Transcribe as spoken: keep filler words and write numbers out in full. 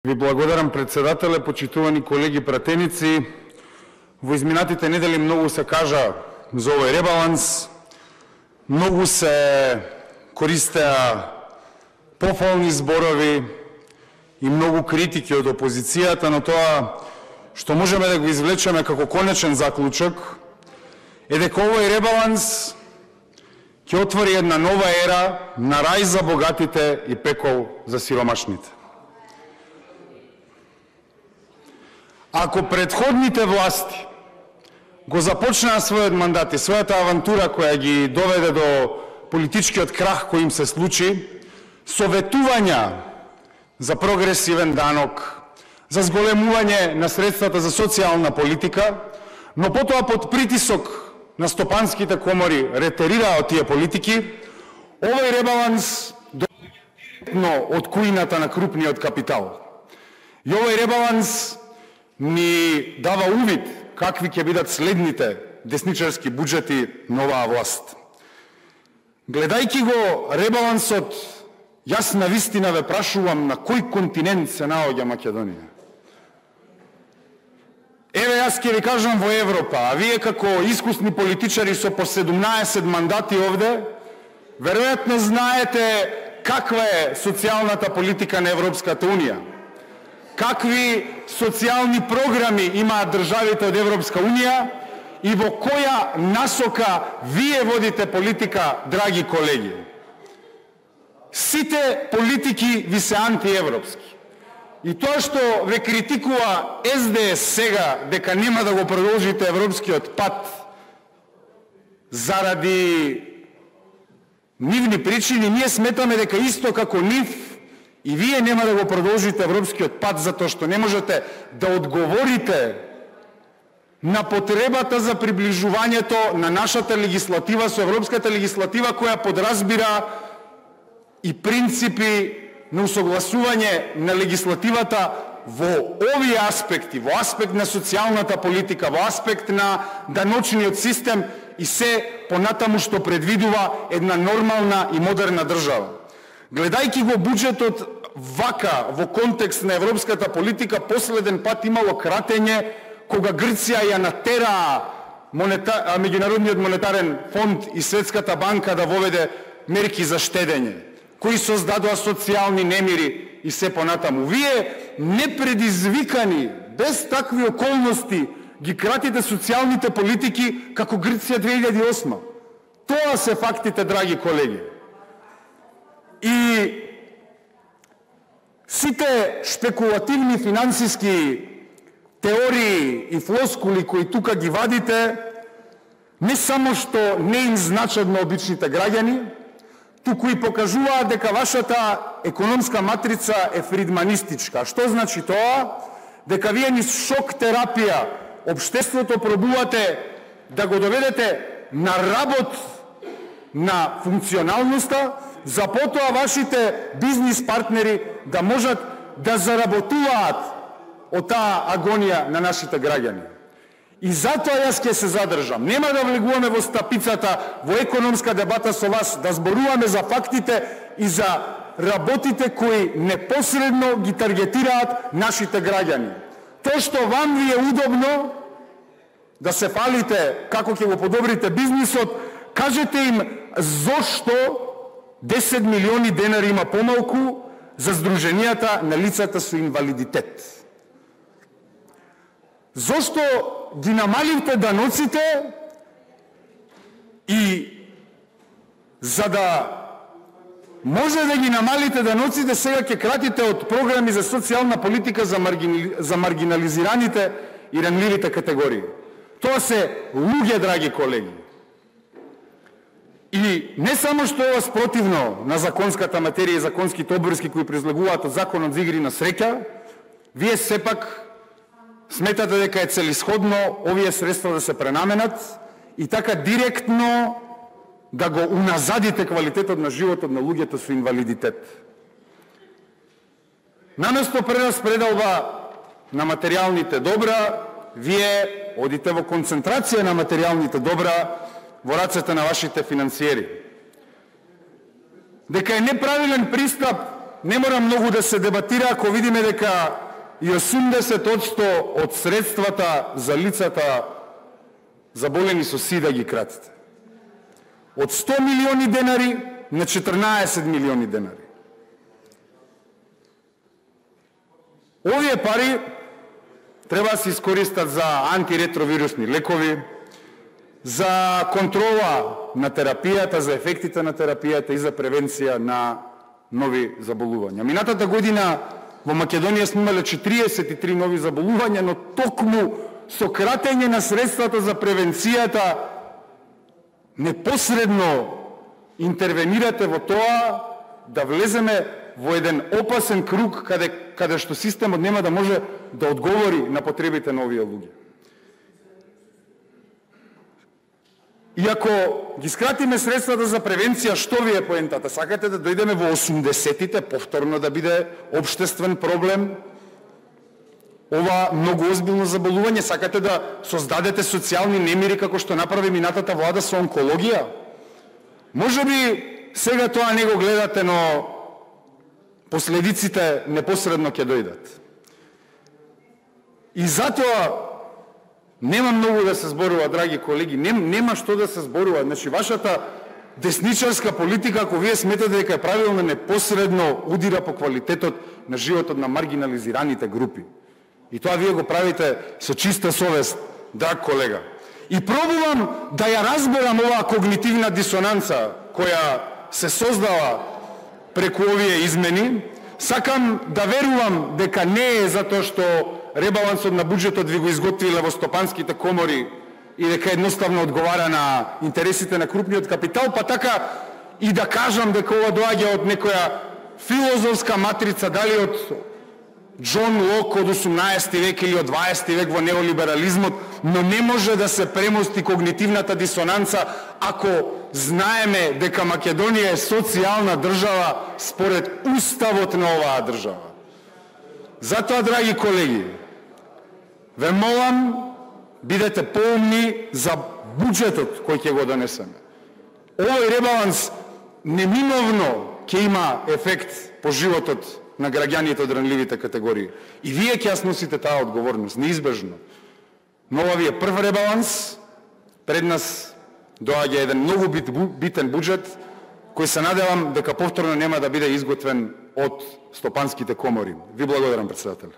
Ви благодарам, председателе, почитувани колеги пратеници. Во изминатите недели многу се кажа за овој ребаланс, многу се користеа пофални зборови и многу критики од опозицијата, но тоа што можеме да го извлечеме како конечен заклучок е дека овој ребаланс ќе отвори една нова ера на рај за богатите и пекол за сиромашните. Ако предходните власти го започнаа својот мандат и својата авантура која ги доведе до политичкиот крах кој им се случи, со ветувања за прогресивен данок, за зголемување на средствата за социјална политика, но потоа под притисок на стопанските комори ретерираа од тие политики, овој ребаланс доаѓа од кујната на крупниот капитал. И овој ребаланс ни дава увид какви ќе бидат следните десничарски буџети на оваа власт. Гледајќи го ребалансот, јас на вистина ве прашувам на кој континент се наоѓа Македонија. Еве јас ќе ви кажам во Европа, а вие како искусни политичари со по седумнаесет мандати овде, веројатно знаете каква е социјалната политика на Европската Унија. Какви социјални програми имаат државите од Европска Унија и во која насока вие водите политика, драги колеги. Сите политики ви се антиевропски. И тоа што ве критикува Ес Де Ес сега дека нема да го продолжите европскиот пат заради нивни причини, ние сметаме дека исто како нив и вие нема да го продолжите европскиот пат затоа што не можете да одговорите на потребата за приближувањето на нашата легислатива со европската легислатива која подразбира и принципи на усогласување на легислативата во овие аспекти, во аспект на социјалната политика, во аспект на даночниот систем и се понатаму што предвидува една нормална и модерна држава. Гледајќи го буџетот вака во контекст на европската политика, последен пат имало кратење кога Грција ја натераа монета... Меѓународниот монетарен фонд и Светската банка да воведе мерки за штедење, кои создадоа социјални немири и се понатаму. Вие непредизвикани, без такви околности, ги кратите социјалните политики како Грција две илјади и осма. Тоа се фактите, драги колеги. И сите шпекулативни финансиски теории и флоскули кои тука ги вадите, не само што не им значат на обичните граѓани, туку и покажуваат дека вашата економска матрица е фридманистичка. Што значи тоа? Дека вие низ шок терапија општеството пробувате да го доведете на работ на функционалноста, за потоа вашите бизнис партнери да можат да заработуваат од таа агонија на нашите граѓани. И затоа јас ќе се задржам. Нема да влегуваме во стапицата, во економска дебата со вас, да зборуваме за фактите и за работите кои непосредно ги таргетираат нашите граѓани. Тоа што вам ви е удобно да се фалите како ќе го подобрите бизнисот, кажете им зошто десет милиони денари има помалку за здруженијата на лицата со инвалидитет. Зошто ги намаливте даноците и за да може да ги намалите даноците, сега ќе кратите од програми за социјална политика за, маргини... за маргинализираните и ранливите категории. Тоа се луѓе, драги колеги. И не само што е спротивно на законската материја и законските обврски кои произлегуваат од законот за игри на среќа, вие сепак сметате дека е целисходно овие средства да се пренаменат и така директно да го уназадите квалитетот на животот на луѓето со инвалидитет. Наместо прераспределба на материјалните добра, вие одите во концентрација на материјалните добра во рацете на вашите финансиери. Дека е неправилен пристап не мора многу да се дебатира ако видиме дека и осумдесет одсто од средствата за лицата заболени со сида ги кратите. Од сто милиони денари на четрнаесет милиони денари. Овие пари треба да се искористат за антиретровирусни лекови, за контрола на терапијата, за ефектите на терапијата и за превенција на нови заболувања. Минатата година во Македонија сме имале четириесет и три нови заболувања, но токму со кратење на средствата за превенцијата непосредно интервенирате во тоа да влеземе во еден опасен круг каде, каде што системот нема да може да одговори на потребите на овие луѓе. И ако ги скратиме средствата за превенција, што ви е поентата? Сакате да дојдеме во осумдесетите, повторно да биде општествен проблем? Ова многу озбилно заболување, сакате да создадете социјални немири како што направи минатата влада со онкологија? Може би сега тоа не го гледате, но последиците непосредно ќе дојдат. И затоа нема многу да се зборува, драги колеги, нем, нема што да се зборува. Значи, вашата десничарска политика, ако вие сметате дека е правилно, непосредно удира по квалитетот на животот на маргинализираните групи. И тоа вие го правите со чиста совест, драг колега. И пробувам да ја разберам оваа когнитивна дисонанца која се создава преку овие измени. Сакам да верувам дека не е затоа што ребалансот на буџетот ви го изготвиле во стопанските комори и дека едноставно одговара на интересите на крупниот капитал, па така и да кажам дека ова доаѓа од некоја филозофска матрица, дали од Џон Лок од осумнаесети век или од дваесети век во неолиберализмот, но не може да се премости когнитивната дисонанца ако знаеме дека Македонија е социјална држава според уставот на оваа држава. Затоа, драги колеги, ве молам, бидете поумни за буџетот кој ќе го донесеме. Овој ребаланс неминовно ќе има ефект по животот на граѓаните од ранливите категории. И вие ќе ја сносите таа одговорност, неизбежно. Но ова ви е прв ребаланс, пред нас доаѓа еден многу бит, битен буџет, кој се надевам дека повторно нема да биде изготвен од стопанските комори. Ви благодарам, председател.